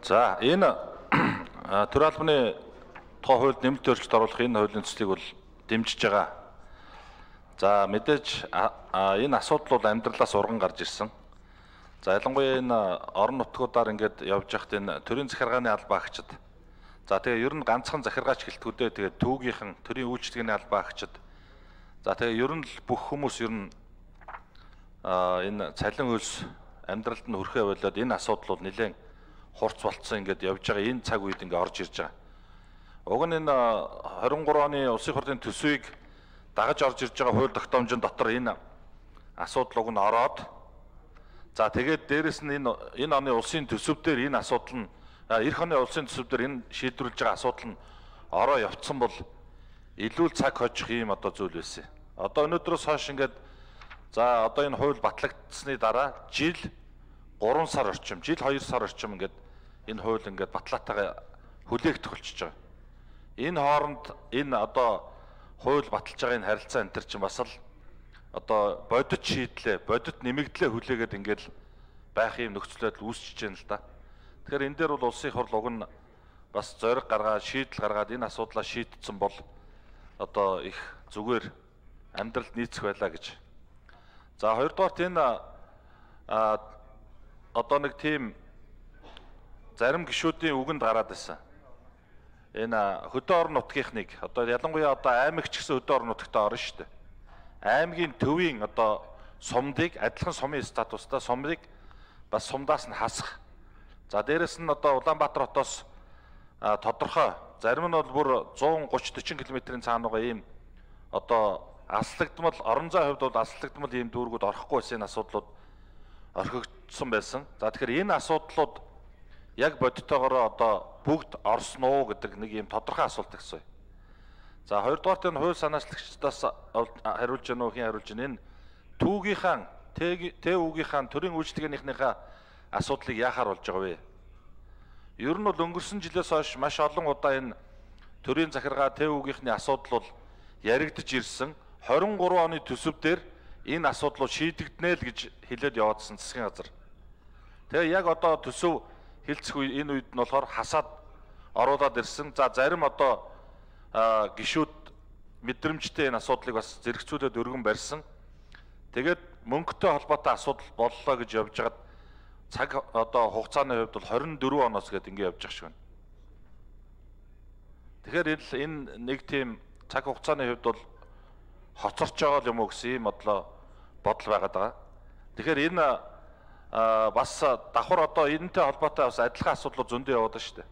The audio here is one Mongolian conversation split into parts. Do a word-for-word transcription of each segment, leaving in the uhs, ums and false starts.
За энэ төр албаны тухай хуульд нэмэлт өөрчлөлт оруулах энэ хуулийн төслийг бол дэмжиж байгаа. За мэдээж энэ асуудал бол амьдралаас урган гарч ирсэн. За ялангуяа энэ орон нутгуудаар ингээд явж байхад энэ төрийн захиргааны албаа агчид. За тэгээ ер нь ганцхан захиргаач гэлтгүүдээ тэгээ түүгийнхэн төрийн үйлчлэгээний албаа агчид. За тэгээ ер нь л бүх хүмүүс ер нь энэ цалин хөлс амьдралд нь хүрхээ болоод энэ асуудал бол нэлээд хурц болцсон ингээд явж байгаа энэ цаг үед ингээд орж ирж байгаа. Уг нь энэ хорин гурав оны улсын хурлын төсвийг дагаж орж ирж байгаа хууль тогтоомжийн дотор энэ асуудал уг нь ороод за тэгээд дээрэс нь энэ энэ оны улсын төсөв дээр энэ асуудал нь эх оны улсын төсөв дээр энэ шийдвэрлэж байгаа асуудал нь ороо явцсан бол илүү цаг хожих юм одоо зүйл байсан. Одоо өнөөдрөөс хойш ингээд за одоо энэ хууль батлагдсны дараа жил гурван сар орчим, жил хоёр сар орчим ингээд энэ хууль ингээд батлаатайгаа хүлээгдэх болчихж байгаа. Энэ хооронд энэ одоо хууль баталж байгаа энэ харилцаа энэ төр чинь бас л одоо бодит шийдлээ, бодит нэмэгдлээ хүлээгээд ингээд байх юм нөхцөл байдал үүсчихэж байна л да. Тэгэхээр энэ дээр бол улсын хурл уг нь бас зориг гаргаад шийдэл гаргаад энэ асуудлаа шийдтсэн бол одоо их зүгээр амьдралд нийцэх байлаа гэж. За хоёрдугаарт энэ а одоо нэг тийм зарим гишүүдийн үгэнд гараад байсан. Энэ хөдөө орон нутгийнхныг одоо ялангуяа одоо аймагч гэсэн хөдөө орон нутагт орно шүү дээ. Аймгийн төвийн одоо сумдыг адилхан сумын статустай сумыг бас сумдаас нь хасах. За дээрэс нь одоо Улаанбаатар хотоос тодорхой зарим нь бол бүр зуун гуч дөрвөн км-ийн цаануугаа ийм одоо аслагдмал орон зайн хувьд бол аслагдмал ийм дүүргүүд орохгүй байсан энэ асуудлууд орхигдсон байсан. За тэгэхээр энэ асуудлууд яг бодитоогоор одоо бүгд орсон уу гэдэг нэг ийм тодорхой асуулт гэсэн. За хоёрдугаарт энэ хууль санаачлагчдаас хариулж гэнэ үү хэн хариулж гэнэ энэ түүгийнхаа ТЭУ-гийнхаа төрийн үйлчлэгээнийхнийхээ асуудлыг яахаар болж байгаа вэ? Ер нь бол өнгөрсөн жилээс хойш маш олон удаа энэ төрийн захиргаа ТЭУ-гийнхний асуудал бол яригдж ирсэн. хорин гурав оны төсөв дээр энэ асуудлууд шийдэгдэнэ л гэж хэлээд яваадсан засгийн газар. Тэгээ яг одоо төсөв хэлцэх үе энэ үед нь болохоор хасаад оруулаад ирсэн. За зарим одоо гишүүд мэдрэмжтэй энэ асуудлыг бас зэрэгцүүлээд өргөн барьсан. Тэгээд мөнгөтэй холбоотой асуудал боллоо гэж явж хагаад цаг одоо хугацааны хувьд бол хорин дөрвөн оноос гээд ингэ явж байгаа шиг байна. Тэгэхээр энэ нэг тийм цаг хугацааны хувьд бол хоцорч байгаа юм уу гэсэн юм бодлоо бодол байгаад байгаа. Тэгэхээр энэ бас давхар одоо энэтэй холбоотой бас адилхан асуудлууд зөндөө яваад байна шүү дээ.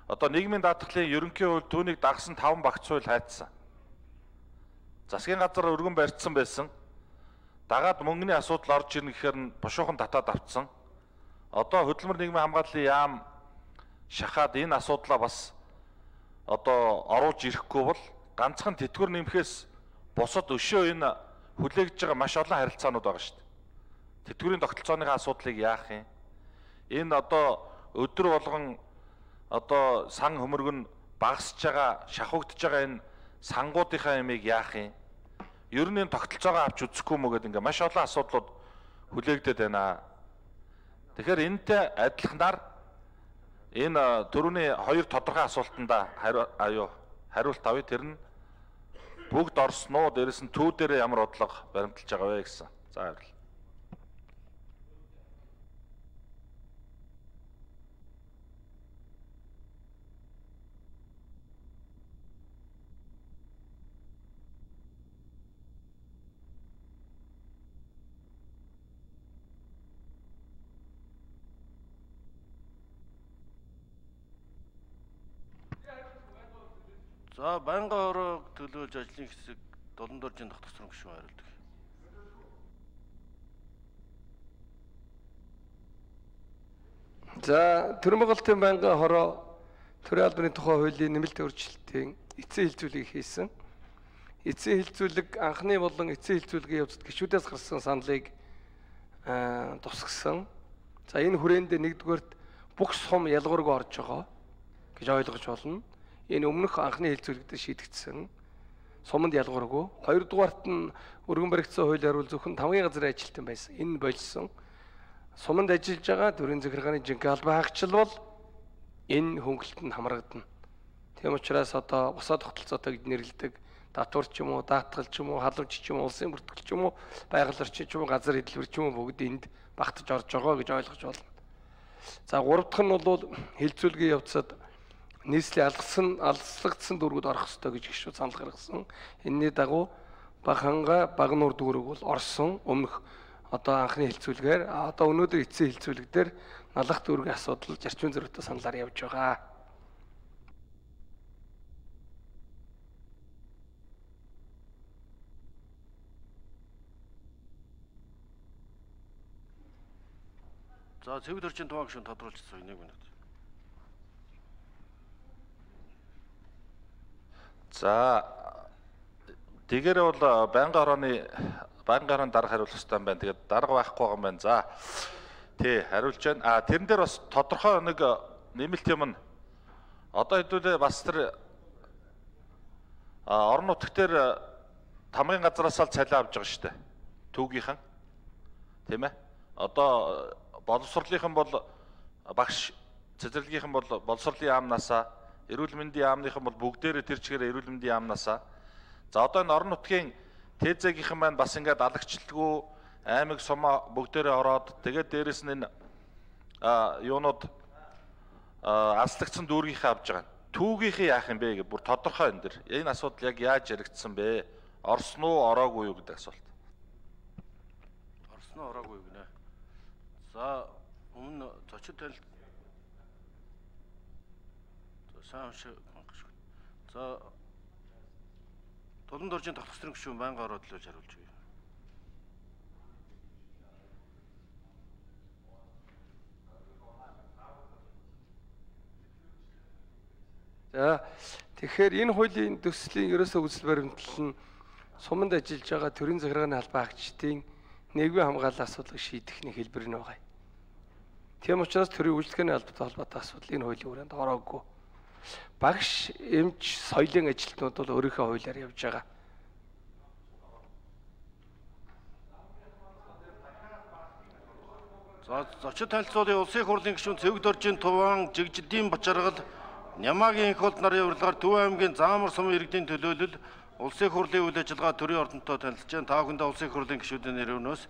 Одоо нийгмийн даатгалын ерөнхий хууль түүнийг дагсан таван багц хууль хайцсан. Засгийн газар өргөн барьцсан байсан. Дагаад мөнгөний асуудал орж ирнэ гэхээр нь бушуухан татаад авцсан. Одоо хөдөлмөр нийгмийн хамгааллын яам шахаад энэ асуудлаа бас одоо оруулж ирэхгүй бол ганцхан тэтгэвэр нэмэхээс бусад өшөө энэ хүлээгдэж байгаа маш олон харилцаанууд байгаа шүү дээ. Тэтгэврийн тогтолцооны асуудлыг яах юм? Энэ одоо өдөр болгон одоо сан хөмөргөн багасж байгаа, шахагдж байгаа энэ сангуудынхаа ямыг яах юм? Ер нь энэ тогтолцоогоо авч үзэхгүй мө гэдэг ингээ маш олон асуудлууд хүлээгдээд байна. Тэгэхээр энэтэй адилханаар энэ төрөний хоёр тодорхой асуултанда хариу хариулт авъя. Тэр нь бүгд орсон уу? Дээрээс нь төв дээр ямар бодлого баримталж байгаа вэ гэсэн. За хариул. За байнгын хорог төлөөлж ажлын хэсэг долон доржийн тогтцсон гишүүн хариулдаг. За Төрийн байгуулалтын байнгын хороо төрийн албаны тухай хуулийн нэмэлт өөрчлөлтийн эцсийн хилцүүлгийг хийсэн. Эцсийн хилцүүлэг анхны болон эцсийн хилцүүлгийн явцад гишүүдээс гарсан саналыг тусгасан. За энэ хүрээнд нэгдүгээрт бүх сум ялгуургүй орж байгаа гэж ойлгож болно. Энэ өмнөх анхны хилцүүлэгт шийдэгдсэн. Суманд ялгуургүй. Хоёрдугаарт нь өргөн баригдсан хууль хариул зөвхөн тамгын газрын ажилтан байсан. Энэ болсон. Суманд ажиллаж байгаа төрийн захиргааны жинхэнэ албан хаагчил бол энэ хөнгөлөлтөнд хамрагдана. Тийм учраас одоо босоод тогтолцоотой гэж нэрлэдэг татвар ч юм уу, даатгал ч юм уу, халамж ч юм уу, улсын бүртгэл ч юм уу, байгаль орчин ч юм уу, газар хөдлөлт ч юм уу бүгд энд багтаж орж байгаа гэж ойлгож байна. За гурав дахь нь бол хилцүүлгийн явцад нийслэлийн алгасан алслагдсан дүүргүүд орох ёстой гэж гишүүд санал гаргасан. Энэний дагуу Баханга Багнуур дүүрэг бол орсон. Өмнөх одоо анхны хилцүүлгээр одоо өнөөдөр эцсийн хилцүүлэг дээр налах дүүргийн асуудал зарчмын зөрүүтэй саналаар явж байгаа. За цэвэр төрчин туваа гишүүн тодруулчихсан нэг минут. За тэгээрээ бол байнгын хорооны байнгын хорооны дарга хариулах хэрэгтэй юм байна. Тэгээд дарга байхгүй байгаа юм байна. За тий хариулж байна. А тэрэн дээр бас тодорхой нэг нэмэлт юм нь одоо хэдүүлээ бас тэр орон нутгт дээр тамгын газраас л цалин авж байгаа шүү дээ. Түүгийнхэн. Тийм ээ. Одоо боловсролынхан бол багш, цэцэрлэгийнхэн бол боловсролын яамнаасаа, эрүүл мэндийн яамныхан бол бүгдээрээ тэр чигээр эрүүл мэндийн яамнаасаа. За одоо энэ орон нутгийн ТЭЗ-ийнхэн маань бас ингээд алагчлалгүй аймаг сумаа бүгдээрээ ороод тэгээд дээрэс нь энэ юунууд алслагдсан дүүргийнхээ авж байгаа. Түүгийнхээ яах юм бэ гэж бүр тодорхой энэ дэр. Энэ асуудал яг яаж яригдсан бэ? Орсон уу, ороогүй юу гэдэг асуулт. Орсон уу, ороогүй юу гинэ. За өмнө зочид танил сайн шиг гашгүй. За Тулан доржийн тогтцоорын гишүүн байнгын ороод л хариулж байна. За тэгэхээр энэ хуулийн төслийн ерөөсөө үзэл баримтлал нь суманд ажиллаж байгаа төрийн захиргааны албан хаагчдын нийгмийн хамгааллын асуудлыг шийдэх нэг хэлбэр нь байгаа. Тийм учраас төрийн үйлчлэгээний албатай холбоотой асуудал энэ хуулийн хүрээнд ороогүй. Багш, эмч, соёлын ажилтнууд бол өөрийнхөө хуулиар явж байгаа. За зочид танилцуулын улсын хурлын гишүүн Цэвэг доржийн Туван Жигжидийн Бачаргал Нямаагийн их болд нарын урилгаар Төв аймгийн Заамар сум иргэдийн төлөөлөл улсын хурлын үйл ажиллагаа төрийн ордонтой танилцж байна. Та бүхэндээ улсын хурлын гишүүдийн нэрнөөс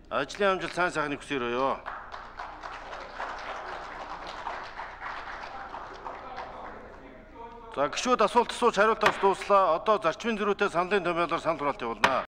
ажлын амжилт сайн сайхныг хүсье. За гишүүд асуулт асууж хариулт авч дууслаа. Одоо зарчмын зөрүүтэй саналын томьёолоор санал хураалт явуулна.